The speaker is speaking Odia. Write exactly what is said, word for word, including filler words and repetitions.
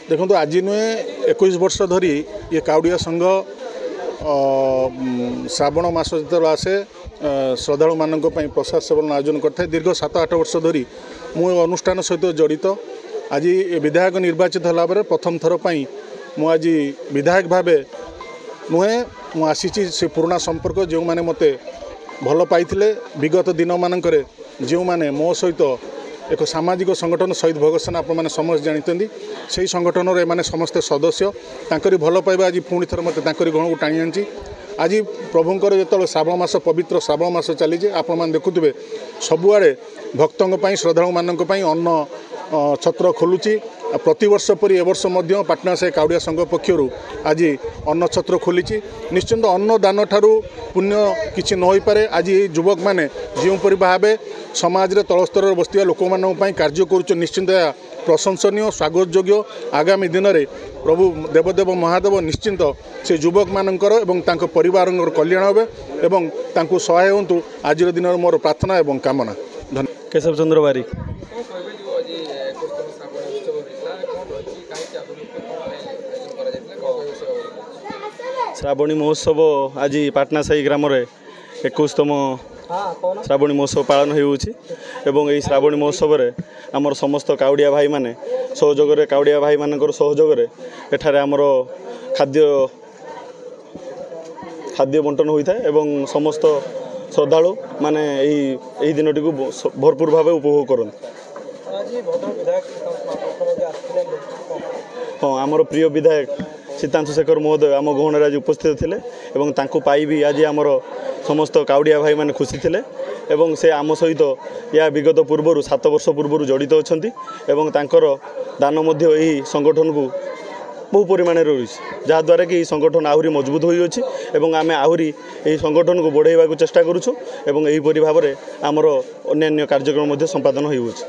ଦେଖନ୍ତୁ, ଆଜି ନୁହେଁ, ଏକୋଇଶ ବର୍ଷ ଧରି ଇଏ କାଉଡ଼ିଆ ସଂଘ ଶ୍ରାବଣ ମାସ ଯେତେବେଳେ ଆସେ ଶ୍ରଦ୍ଧାଳୁମାନଙ୍କ ପାଇଁ ପ୍ରସାଦ ସେବନ ଆୟୋଜନ କରିଥାଏ। ଦୀର୍ଘ ସାତ ଆଠ ବର୍ଷ ଧରି ମୁଁ ଏ ଅନୁଷ୍ଠାନ ସହିତ ଜଡ଼ିତ। ଆଜି ବିଧାୟକ ନିର୍ବାଚିତ ହେଲା ପରେ ପ୍ରଥମ ଥର ପାଇଁ ମୁଁ ଆଜି ବିଧାୟକ ଭାବେ ନୁହେଁ, ମୁଁ ଆସିଛି ସେ ପୁରୁଣା ସମ୍ପର୍କ, ଯେଉଁମାନେ ମୋତେ ଭଲ ପାଇଥିଲେ ବିଗତ ଦିନମାନଙ୍କରେ, ଯେଉଁମାନେ ମୋ ସହିତ ଏକ ସାମାଜିକ ସଂଗଠନ ଶହୀଦ ଭଗତ ସେନା, ଆପଣମାନେ ସମସ୍ତେ ଜାଣିଛନ୍ତି, ସେହି ସଂଗଠନର ଏମାନେ ସମସ୍ତେ ସଦସ୍ୟ। ତାଙ୍କରି ଭଲ ପାଇବା ଆଜି ପୁଣି ଥରେ ମୋତେ ତାଙ୍କରି ଗଣକୁ ଟାଣି ଆଣିଛି। ଆଜି ପ୍ରଭୁଙ୍କର ଯେତେବେଳେ ଶ୍ରାବଣ ମାସ, ପବିତ୍ର ଶ୍ରାବଣ ମାସ ଚାଲିଛି, ଆପଣମାନେ ଦେଖୁଥିବେ ସବୁଆଡ଼େ ଭକ୍ତଙ୍କ ପାଇଁ, ଶ୍ରଦ୍ଧାଳୁମାନଙ୍କ ପାଇଁ ଅନ୍ନ ଛତ୍ର ଖୋଲୁଛି। ପ୍ରତିବର୍ଷ ପରି ଏ ବର୍ଷ ମଧ୍ୟ ପାଟଣା ସାହି କାଉଡ଼ିଆ ସଂଘ ପକ୍ଷରୁ ଆଜି ଅନ୍ନ ଛତ୍ର ଖୋଲିଛି। ନିଶ୍ଚିନ୍ତ ଅନ୍ନଦାନ ଠାରୁ ପୁଣ୍ୟ କିଛି ନ ହୋଇପାରେ। ଆଜି ଏଇ ଯୁବକମାନେ ଯେଉଁପରି ଭାବେ ସମାଜରେ ତଳ ସ୍ତରରେ ବସିଥିବା ଲୋକମାନଙ୍କ ପାଇଁ କାର୍ଯ୍ୟ କରୁଛନ୍ତି, ନିଶ୍ଚିନ୍ତ ଏହା ପ୍ରଶଂସନୀୟ, ସ୍ୱାଗତ ଯୋଗ୍ୟ। ଆଗାମୀ ଦିନରେ ପ୍ରଭୁ ଦେବଦେବ ମହାଦେବ ନିଶ୍ଚିନ୍ତ ସେ ଯୁବକମାନଙ୍କର ଏବଂ ତାଙ୍କ ପରିବାରଙ୍କର କଲ୍ୟାଣ ହେବେ ଏବଂ ତାଙ୍କୁ ସହାୟ ହୁଅନ୍ତୁ, ଆଜିର ଦିନରେ ମୋର ପ୍ରାର୍ଥନା ଏବଂ କାମନା। ଧନ୍ୟବାଦ। କେଶବ ଚନ୍ଦ୍ର ବାରିକ। ଶ୍ରାବଣୀ ମହୋତ୍ସବ ଆଜି ପାଟନା ସାହି ଗ୍ରାମରେ ଏକୋଇଶତମ ଶ୍ରାବଣୀ ମହୋତ୍ସବ ପାଳନ ହେଉଅଛି ଏବଂ ଏହି ଶ୍ରାବଣୀ ମହୋତ୍ସବରେ ଆମର ସମସ୍ତ କାଉଡ଼ିଆ ଭାଇମାନେ ସହଯୋଗରେ, କାଉଡ଼ିଆ ଭାଇମାନଙ୍କର ସହଯୋଗରେ ଏଠାରେ ଆମର ଖାଦ୍ୟ ଖାଦ୍ୟ ବଣ୍ଟନ ହୋଇଥାଏ ଏବଂ ସମସ୍ତ ଶ୍ରଦ୍ଧାଳୁ ମାନେ ଏହି ଏହି ଦିନଟିକୁ ଭରପୁର ଭାବେ ଉପଭୋଗ କରନ୍ତି। ହଁ, ଆମର ପ୍ରିୟ ବିଧାୟକ ସୀତାଂଶୁ ଶେଖର ମହୋଦୟ ଆମ ଗହଣରେ ଆଜି ଉପସ୍ଥିତ ଥିଲେ ଏବଂ ତାଙ୍କୁ ପାଇ ବି ଆଜି ଆମର ସମସ୍ତ କାଉଡ଼ିଆ ଭାଇମାନେ ଖୁସି ଥିଲେ ଏବଂ ସେ ଆମ ସହିତ ଏହା ବିଗତ ପୂର୍ବରୁ ସାତ ବର୍ଷ ପୂର୍ବରୁ ଜଡ଼ିତ ଅଛନ୍ତି ଏବଂ ତାଙ୍କର ଦାନ ମଧ୍ୟ ଏହି ସଂଗଠନକୁ ବହୁ ପରିମାଣରେ ରହିଛି, ଯାହାଦ୍ୱାରା କି ଏହି ସଂଗଠନ ଆହୁରି ମଜବୁତ ହୋଇଅଛି ଏବଂ ଆମେ ଆହୁରି ଏହି ସଂଗଠନକୁ ବଢ଼ାଇବାକୁ ଚେଷ୍ଟା କରୁଛୁ ଏବଂ ଏହିପରି ଭାବରେ ଆମର ଅନ୍ୟାନ୍ୟ କାର୍ଯ୍ୟକ୍ରମ ମଧ୍ୟ ସମ୍ପାଦନ ହେଉଅଛି।